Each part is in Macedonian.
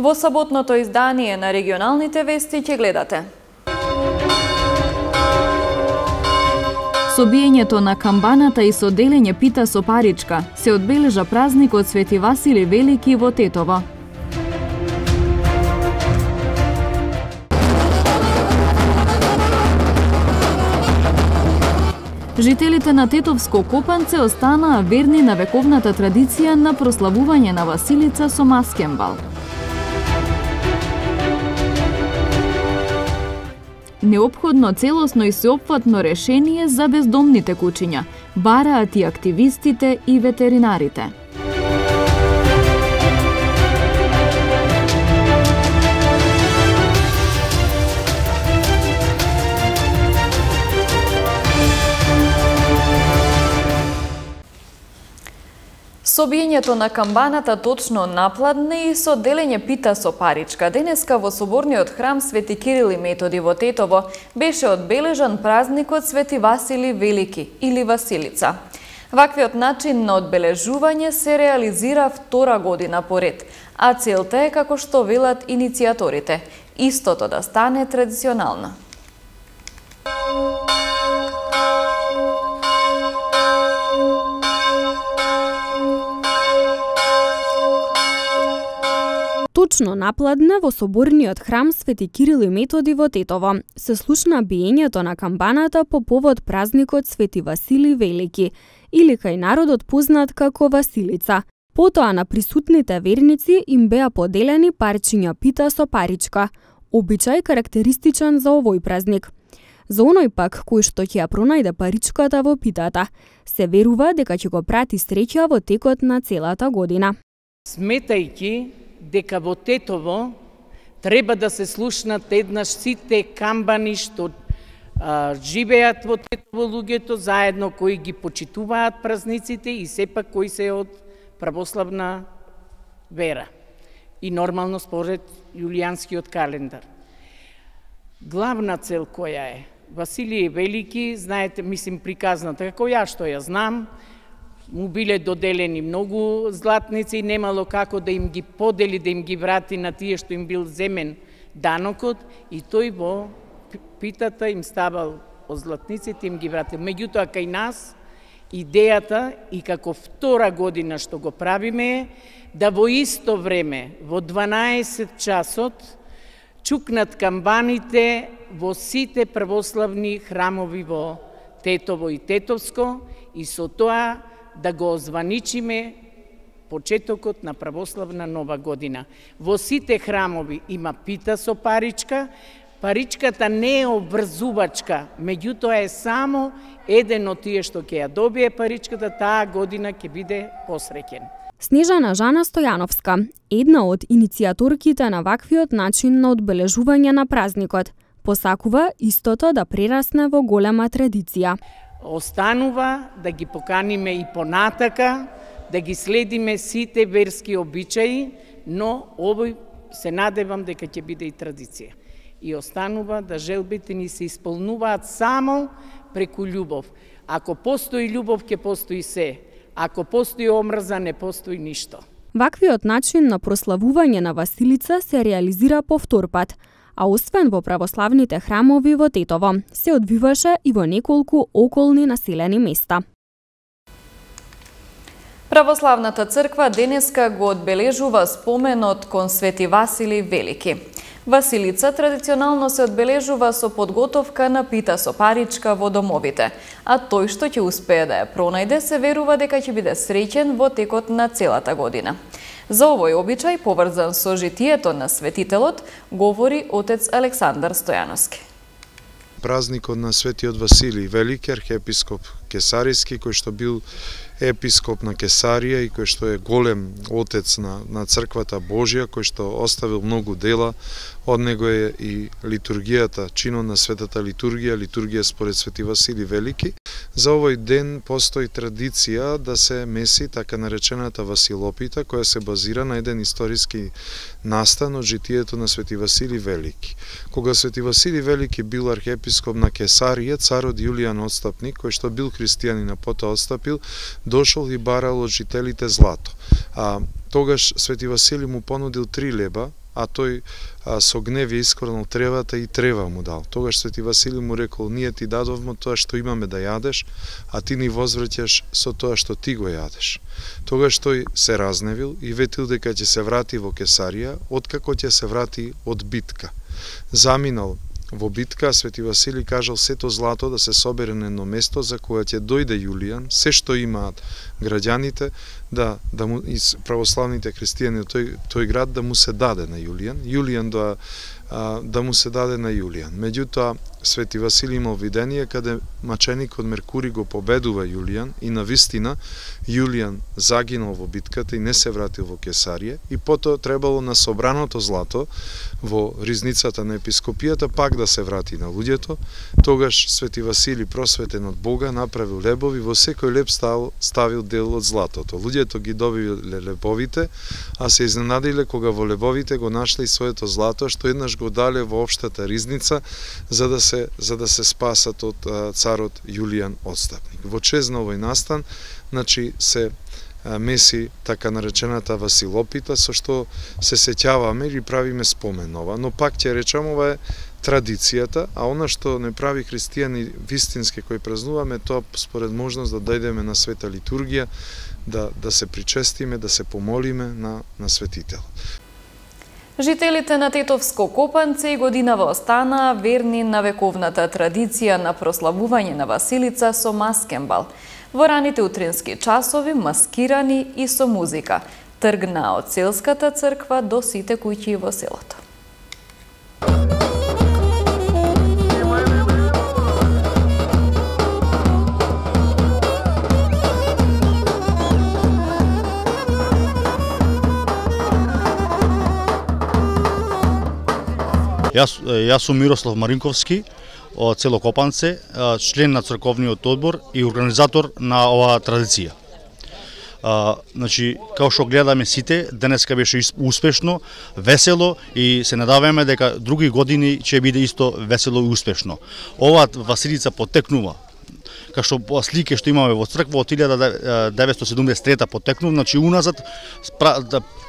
Во саботното издание на регионалните вести ќе гледате. Со биењето на камбаната и со делење пита со паричка се одбележа празникот Свети Васили Велики во Тетово. Жителите на Тетовско Копанце останаа верни на вековната традиција на прославување на Василица со маскенбал. Неопходно целосно и сеопфатно решение за бездомните кучиња, бараат и активистите и ветеринарите. Со биењето на камбаната точно напладне и со делење пита со паричка, денеска во соборниот храм Свети Кирил и Методи во Тетово беше одбележан празникот Свети Васили Велики или Василица. Ваквиот начин на одбележување се реализира втора година поред, а целта е, како што велат иницијаторите, истото да стане традиционално. Точно напладне во соборниот храм Свети Кирил и Методи во Тетово се слушна биењето на камбаната по повод празникот Свети Васили Велики, или кај народот познат како Василица. Потоа на присутните верници им беа поделени парчиња пита со паричка, обичај карактеристичен за овој празник. За оној пак кој што ќе ја пронајде паричката во питата, се верува дека ќе го прати среќа во текот на целата година. Сметајќи дека во Тетово треба да се слушнат еднаш сите камбани што живеат во Тетово луѓето заедно, кои ги почитуваат празниците и сепак кои се од православна вера и нормално според јулијанскиот календар. Главна цел која е Василије Велики, знаете, мислим приказната, како ја што ја знам, му биле доделени многу златници и немало како да им ги подели, да им ги врати на тие што им бил земен данокот, и тој во питата им ставал од златниците, им ги вратил. Меѓутоа, кај нас идејата и како втора година што го правиме е да во исто време, во 12 часот, чукнат камбаните во сите православни храмови во Тетово и Тетовско и со тоа да го озваничиме почетокот на православна нова година. Во сите храмови има пита со паричка. Паричката не е обврзувачка, меѓутоа е само еден од тие што ќе ја добие паричката, таа година ќе биде посреќен. Снежана Жана Стојановска, една од иницијаторките на ваквиот начин на одбележување на празникот, посакува истото да прерасне во голема традиција. Останува да ги поканиме и понатака, да ги следиме сите верски обичаи, но овој се надевам дека ќе биде и традиција. И останува да желбите ни се исполнуваат само преку љубов. Ако постои љубов, ќе постои се. Ако постои омрза, не постои ништо. Ваквиот начин на прославување на Василица се реализира по втор пат, а освен во православните храмови во Тетово, се одвиваше и во неколку околни населени места. Православната црква денеска го одбележува споменот кон Свети Васили Велики. Василица традиционално се одбележува со подготовка на пита со паричка во домовите, а тој што ќе успее да ја пронајде се верува дека ќе биде среќен во текот на целата година. За овој обичај, поврзан со житието на светителот, говори отец Александар Стојановски. Празникот на Светиот Василий Велики, архиепископ Кесаријски, кој што бил епископ на Кесарија и кој што е голем отец на црквата Божја, кој што оставил многу дела. Од него е и литургијата, чинот на светата литургија според Свети Василий Велики. За овој ден постои традиција да се меси така наречената Василопита, која се базира на еден историски настан од житието на Свети Василий Велики. Кога Свети Василий Велики бил архиепископ на Кесарија, царот Јулијан Отстапник, кој што бил христијанин, а потоа отстапил, дошол и барал од жителите злато. А тогаш Свети Василий му понудил 3 леба, а тој со гнев ја искорнал тревата и трева му дал. Тогаш Свети Василий му рекол: ние ти дадовме тоа што имаме да јадеш, а ти ни возвраќаш со тоа што ти го јадеш. Тогаш тој се разневил и ветил дека ќе се врати во Кесарија, откако ќе се врати од битка. Заминал во битка, Свети Василий кажал сето злато да се собере на едно место за кога ќе дојде Јулијан, се што имаат граѓаните, да му и православните христијани од тој град да му се даде на Јулијан, да му се даде на Јулијан. Меѓутоа Свети Василий имал видение каде маченикот Меркурий го победува Јулијан и навистина Јулијан загинал во битката и не се вратил во Кесарија, и потоа требало на собраното злато во ризницата на епископијата пак да се врати на луѓето. Тогаш Свети Василий, просветен од Бога, направил лебови, во секој леб ставил дел од златото. Луѓето ги добиле лебовите, а се изненадиле кога во лебовите го нашле и своето злато, што еднаш го дале во општата ризница за да се спасат од царот Јулијан Отстапник. Во чест на овој настан, значи се меси така наречената Василопита, со што се сеќаваме или правиме спомен ова, но пак ќе речам, ова е традицијата, а она што не прави христијани вистински кои празнуваме, тоа според можност да дојдеме на света литургија, да се причестиме, да се помолиме на светител. Жителите на Тетовско Копанце и годинава останаа верни на вековната традиција на прославување на Василица со маскенбал. Во раните утрински часови, маскирани и со музика. Тргна од селската црква до сите куќи во селото. Јас сум Мирослав Маринковски од село Копанце, член на црковниот одбор и организатор на оваа традиција. Значи, како што гледаме сите, денеска беше успешно, весело и се надаваме дека други години ќе биде исто весело и успешно. Оваа Василица потекнува, како што слики што имаме во црква од 1973 потекнува, значи уназад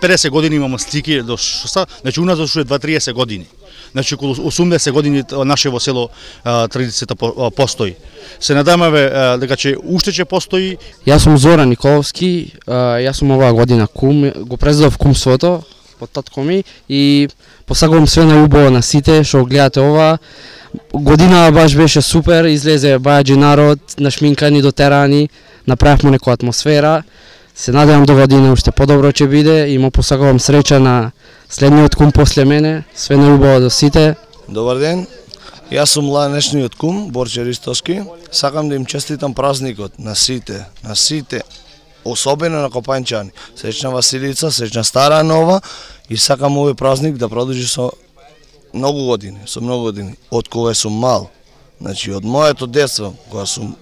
50 години имаме слики до шоса, значи уназад уште 20-30 години. Значи околу 80 години наше во село традицијата постои. Се надамаме дека уште ќе постои. Јас сум Зоран Николовски, јас сум оваа година кум, го презедов кумството од татко ми и посакувам све најубаво на сите што гледате ова. Година баш беше супер, излезе бајаџи народ, нашминкани, дотерани, направивме некоја атмосфера. Се надевам до година уште подобро ќе биде и му посакувам среќа на следниот кум после мене, све најубаво до сите. Добар ден, јас сум ланешниот кум, Борче Ристовски. Сакам да им честитам празникот на сите, особено на Копанчани. Среќна Василица, среќна стара нова и сакам овој празник да продолжи со многу години, од кога сум мал. Значи, од моето детство, кога сум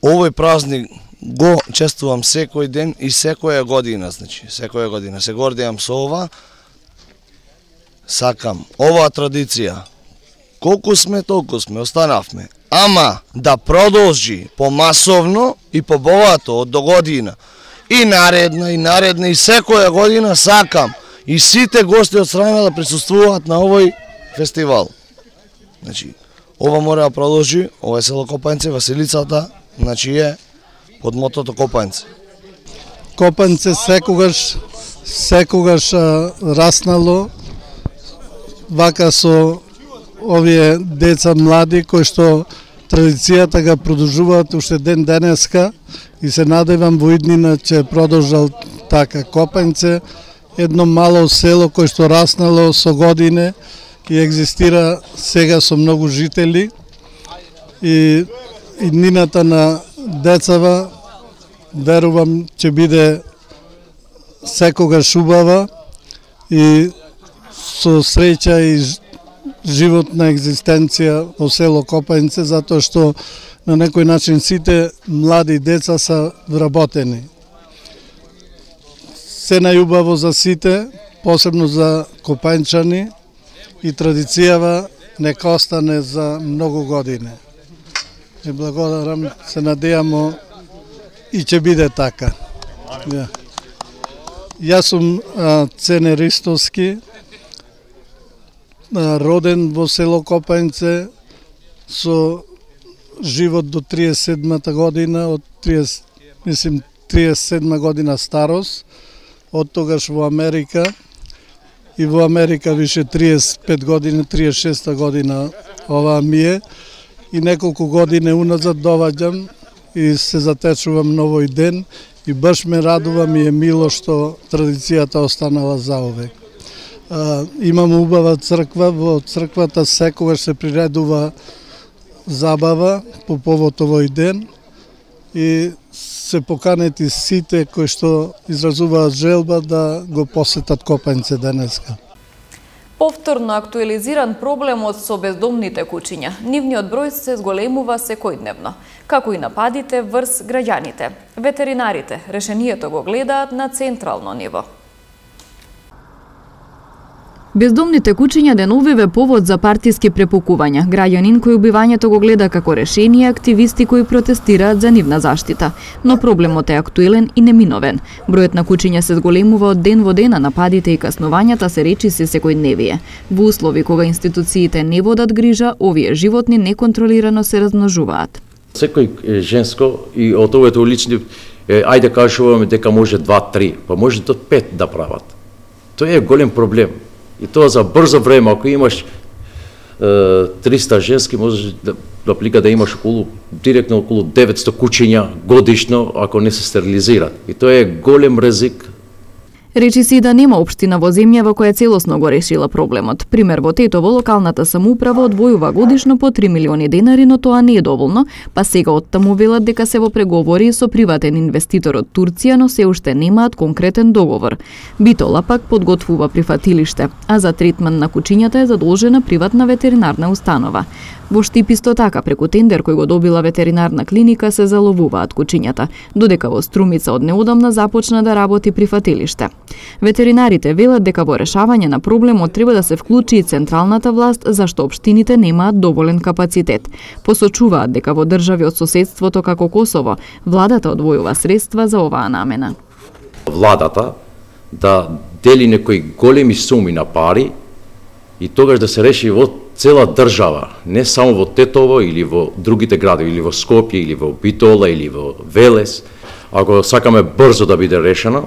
овој празник го чествувам секој ден и секоја година, значи, секоја година. Се гордеам со ова, сакам оваа традиција. Колку сме, толку сме, останавме. Ама да продолжи помасовно и побогато од до година. И наредна, и секоја година сакам и сите гости од страна да присуствуваат на овој фестивал. Значи, ова мора да продолжи, ова е село Копанце, Василицата, значи е под мотото Копанце. Копанце секогаш раснало вака со овие деца млади кои што традицијата га продолжуваат уште ден денеска и се надевам во иднина ќе продолжал така. Копанце едно мало село кој што раснало со године и екзистира сега со многу жители и иднината на децава верувам ќе биде секогаш убава и со среќа и животна екзистенција во село Копанце, затоа што на некој начин сите млади деца се вработени. Се најубаво за сите, посебно за Копанчани и традицијава нека остане за многу години. И благодарам, се надејамо и ќе биде така. Јас сум Цене Ристовски, роден во село Копањце, со живот до 37-та година, од 37 година старост, од тогаш во Америка, и во Америка више 35 години, 36 година ова ми е, и неколку години уназад доваѓам и се затечувам на овој ден, и баш ме радува, ми е мило што традицијата останала заовек. Имам убава црква, во црквата секогаш се приредува забава по повод овој ден и се поканети сите кои што изразуваат желба да го посетат Копањце денеска. Повторно актуализиран проблемот со бездомните куќиња. Нивниот број се зголемува секојдневно, како и нападите врз граѓаните. Ветеринарите решението го гледаат на централно ниво. Бездомните куќиња деновиве повод за партиски препукувања. Граѓанин кој убивањето го гледа како решение, активисти кои протестираат за нивна заштита. Но проблемот е актуелен и неминовен. Бројот на куќиња се зголемува од ден во ден, а нападите и каснувањата се речиси секојдневие. Во услови кога институциите не водат грижа, овие животни неконтролирано се размножуваат. Секој женско и од овие улични, ајде кажуваме дека може 2-3, па може до 5 да прават. Тоа е голем проблем. И тоа за брзо време, ако имаш 300 женски, можеш да аплика да имаш директно околу 900 куќиња годишно, ако не се стерилизираат. И тоа е голем ризик. Речи си да нема општина во земјава која целосно го решила проблемот. Пример, во Тетово локалната самоуправа одвојува годишно по 3 милиони денари, но тоа не е доволно, па сега оттаму велат дека се во преговори со приватен инвеститор од Турција, но се уште немаат конкретен договор. Битола пак подготвува прифатилиште, а за третман на куќињата е задолжена приватна ветеринарна установа. Во Штип исто така, преку тендер кој го добила ветеринарна клиника, се заловуваат куќињата, додека во Струмица од неодамна започна да работи прифатилиште. Ветеринарите велат дека во решавање на проблемот треба да се вклучи и централната власт, зашто општините немаат доволен капацитет. Посочуваат дека во држави од соседството како Косово, владата одвојува средства за оваа намена. Владата да дели некои големи суми на пари и тогаш да се реши во цела држава, не само во Тетово или во другите градови, или во Скопје, или во Битола, или во Велес, ако сакаме брзо да биде решено,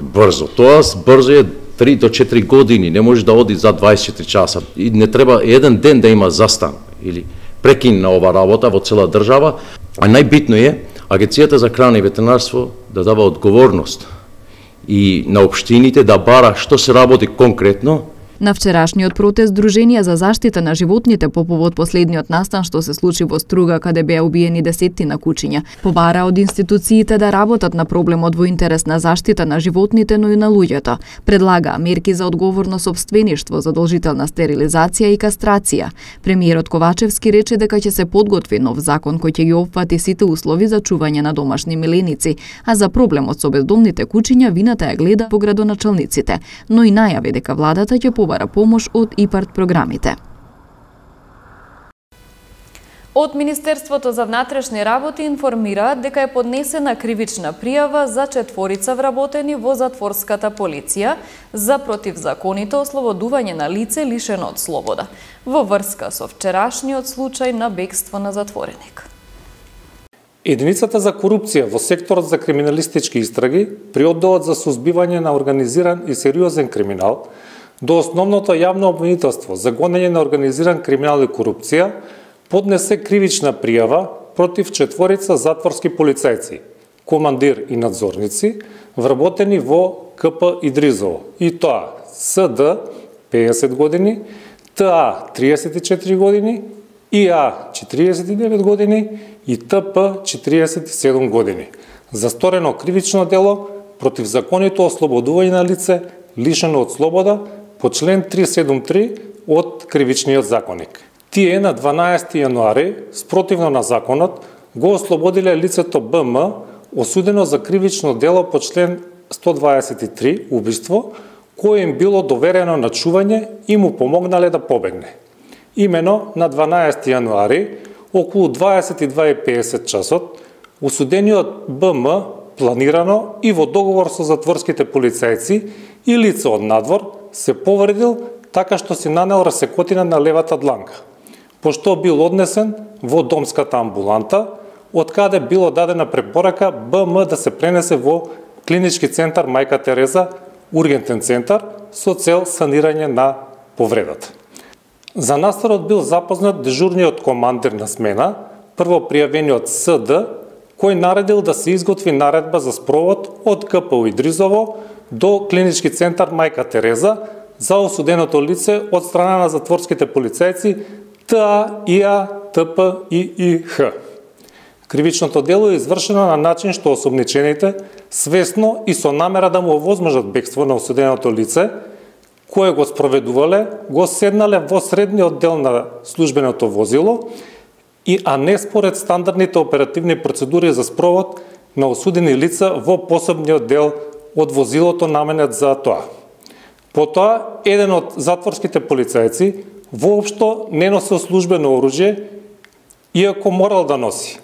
брзо. Тоа брзо е 3 до 4 години, не може да оди за 24 часа. И не треба еден ден да има застан или прекин на ова работа во цела држава. А најбитно е Агенцијата за храна и ветеринарство да дава одговорност и на општините да бара што се работи конкретно. На вчерашниот протест Друженија за заштита на животните по повод последниот настан што се случи во Струга, каде беа убиени десеттина куќиња, побара од институциите да работат на проблемот во интерес на заштита на животните, но и на луѓето. Предлага мерки за одговорно сопствеништво, задолжителна стерилизација и кастрација. Премиерот Ковачевски рече дека ќе се подготви нов закон кој ќе ги опфати сите услови за чување на домашни миленици, а за проблемот со бездомните куќиња вината ја гледа по градоначалниците, но и најави дека владата ќе побара помош од ИПАРТ програмите. Од Министерството за внатрешни работи информираат дека е поднесена кривична пријава за 4 вработени во затворската полиција за противзаконито ослободување на лице лишено од слобода во врска со вчерашниот случај на бегство на затвореник. Единицата за корупција во секторот за криминалистички истраги при одделот за сузбивање на организиран и сериозен криминал до основното јавно обвинителство за гонење на организиран криминал и корупција поднесе кривична пријава против 4 затворски полицајци, командир и надзорници, вработени во КП Идризово, и тоа СД 50 години, ТА 34 години, ИА 49 години и ТП 47 години, за сторено кривично дело против законито ослободување на лице лишено од слобода по член 373 од Кривичниот законник. Тие на 12 јануари, спротивно на законот, го ослободиле лицето БМ, осудено за кривично дело по член 123 убиство, кое им било доверено на чување и му помогнале да побегне. Имено на 12 јануари, околу 22:50 часот, осудениот БМ планирано и во договор со затворските полицајци и лица од надвор, се повредил така што си нанел расекотина на левата дланка, пошто бил однесен во домската амбуланта, од каде било дадена препорака БМ да се пренесе во клинички центар Мајка Тереза, ургентен центар, со цел санирање на повредата. За настанот бил запознат дежурниот командир на смена, прво пријавениот СД, кој наредил да се изготви наредба за спровод од КПУ Идризово до клинички центар Мајка Тереза за осуденото лице од страна на затворските полицајци ТА, ИА, ТП и ИХ. Кривичното дело е извршено на начин што осомничените свесно и со намера да му овозможат бегство на осуденото лице, кое го спроведувале, го седнале во средниот дел на службеното возило, а не според стандардните оперативни процедури за спровод на осудени лица во посебниот дел од возилото наменет за тоа. Потоа, еден од затворските полицајци воопшто не носил службено оружје, иако морал да носи.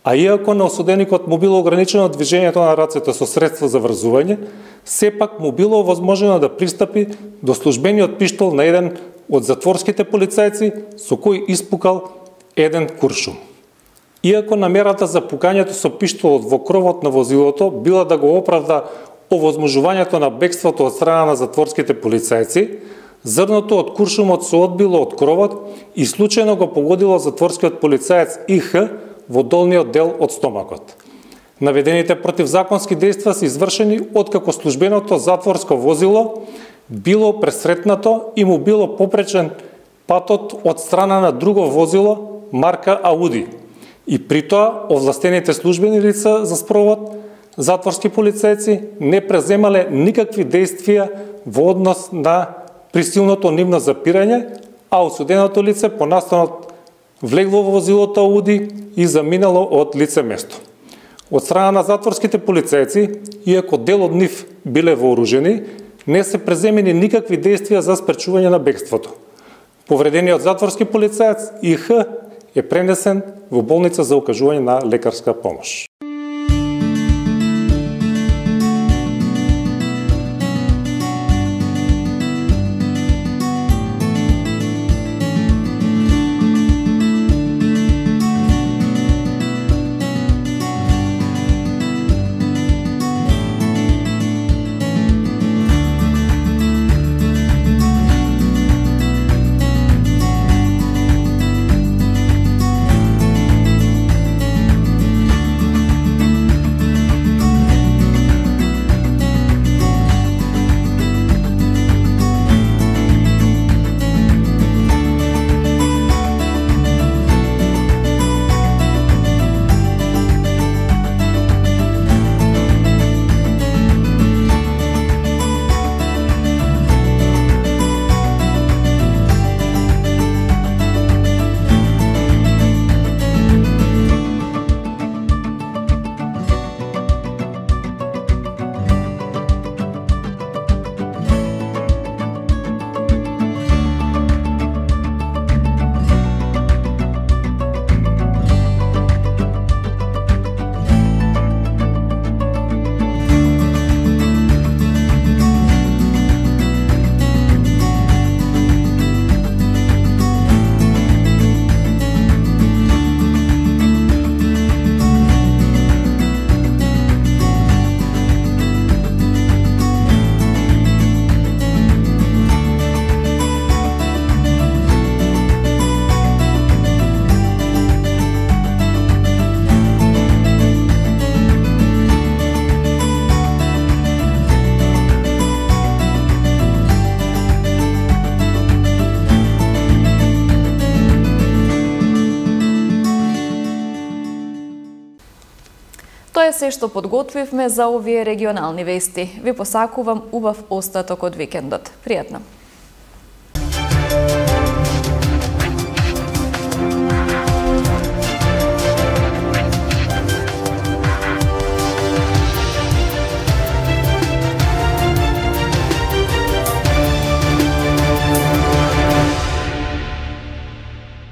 А иако на осуденикот му било ограничено движењето на рацете со средства за врзување, сепак му било овозможено да пристапи до службениот пиштол на еден од затворските полицајци со кој испукал еден куршум. Иако намерата за пукањето со пиштолот во кровот на возилото била да го оправда овозможувањето на бегството од страна на затворските полицајци, зрното од куршумот се одбило од кровот и случајно го погодило затворскиот полицаец ИХ во долниот дел од стомакот. Наведените противзаконски дејства се извршени откако службеното затворско возило било пресретнато и му било попречен патот од страна на друго возило марка Ауди. И при тоа овластените службени лица за спровод, затворски полицајци, не преземале никакви дејствија во однос на присилното нивно запирање, а осуденото лице по настанот влегло во возилото Ауди и заминало од лице место. Од страна на затворските полицајци, иако дел од нив биле вооружени, не се преземени никакви дејствија за спречување на бегството. Повредениот затворски полицаец ИХ е пренесен во болница за окажување на лекарска помош. Тоа е се што подготвивме за овие регионални вести. Ви посакувам убав остаток од викендот. Пријатно!